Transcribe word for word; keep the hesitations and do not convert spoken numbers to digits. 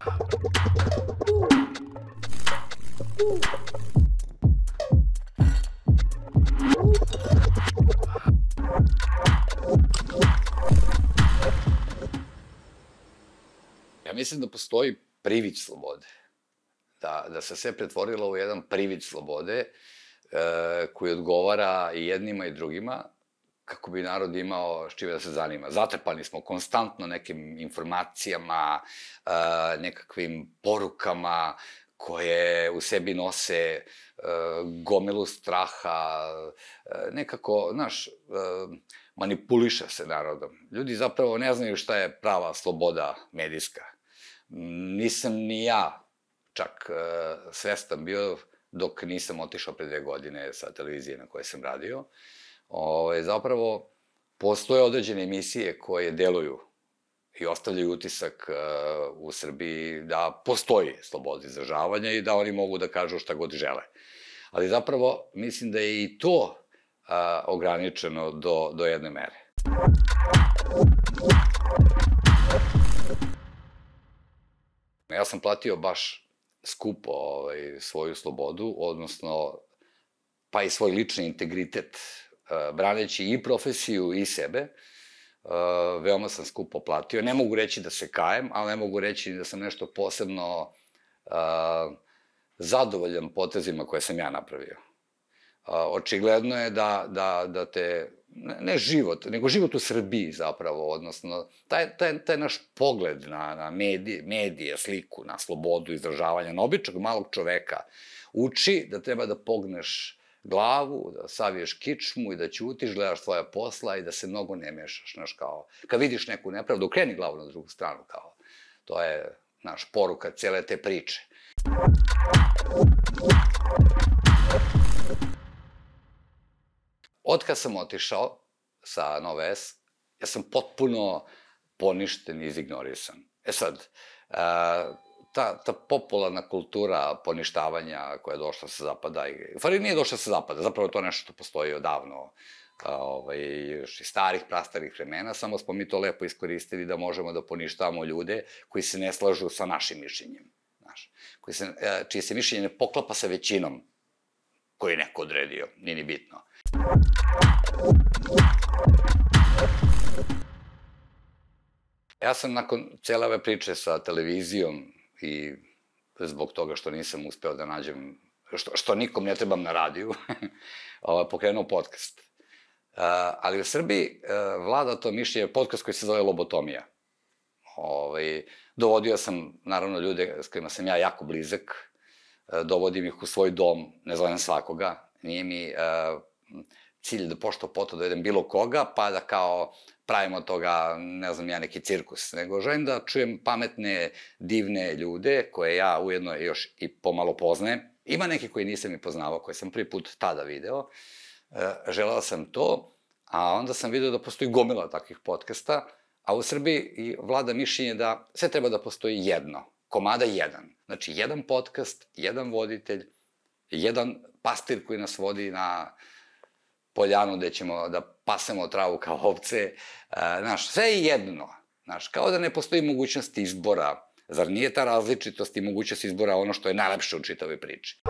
Ja mislim da postoji privid slobode. Da se sve pretvorilo u jedan privid slobode koji odgovara i jednima i drugima, kako bi narod imao s čime da se zanima. Zatrpani smo konstantno nekim informacijama, nekakvim porukama koje u sebi nose gomilu straha, nekako, znaš, manipuliše se narodom. Ljudi zapravo ne znaju šta je prava sloboda medijska. Nisam ni ja čak svestan bio dok nisam otišao pre dve godine sa televizije na kojoj sam radio. Zapravo, postoje određene emisije koje deluju i ostavljaju utisak u Srbiji da postoji sloboda izražavanja i da oni mogu da kažu šta god žele. Ali zapravo, mislim da je i to ograničeno do jedne mere. Ja sam platio baš skupo svoju slobodu, odnosno pa i svoj lični integritet, braneći i profesiju i sebe. Veoma sam skupo platio. Ne mogu reći da se kajem, ali ne mogu reći da sam nešto posebno zadovoljan potezima koje sam ja napravio. Očigledno je da te, ne život, nego život u Srbiji zapravo, odnosno, taj naš pogled na medije, sliku, na slobodu izražavanja, na običnog malog čoveka, uči da treba da pogneš glavu, da saviješ kičmu i da ćutiš, gledaš svoja posla i da se mnogo ne mešaš, znaš, kao, kad vidiš neku nepravdu, okreni glavu na drugu stranu, kao, to je, naš, poruka cele te priče. Otkad sam otišao sa Nove S, ja sam potpuno poništen i izignorisan. E sad, ta popularna kultura poništavanja koja je došla sa zapada, u stvari nije došla sa zapada, zapravo to je nešto što postoji odavno, još iz starih, prastarih vremena, samo smo mi to lepo iskoristili da možemo da poništavamo ljude koji se ne slažu sa našim mišljenjem, čije se mišljenje ne poklapa sa većinom koju je neko odredio, nije ni bitno. Ja sam nakon cele ove priče sa televizijom i zbog toga što nisam uspeo da nađem, što nikom ne trebam na radiju, pokrenuo podcast. Ali u Srbiji vlada to mišljenje, podcast koji se zove Lobotomija. Dovodio sam, naravno, ljude s kojima sam ja jako blizak, dovodim ih u svoj dom, ne zovem svakoga, nije mi cilj da pošto poto dovedem bilo koga, pa da kao pravimo od toga, ne znam ja, neki cirkus, nego želim da čujem pametne, divne ljude, koje ja ujedno još i pomalo poznajem. Ima neki koji nisam i poznavao, koje sam prvi put tada video. Želeo sam to, a onda sam video da postoji gomila takvih podcasta, a u Srbiji vlada mišljenje da sve treba da postoji jedno, komada jedan. Znači, jedan podcast, jedan voditelj, jedan pastir koji nas vodi na poljanu gde ćemo da pasemo travu kao ovce. Znaš, sve je jedno. Znaš, kao da ne postoji mogućnost izbora. Zar nije ta različitost i mogućnost izbora ono što je najlepše u čitavoj priči?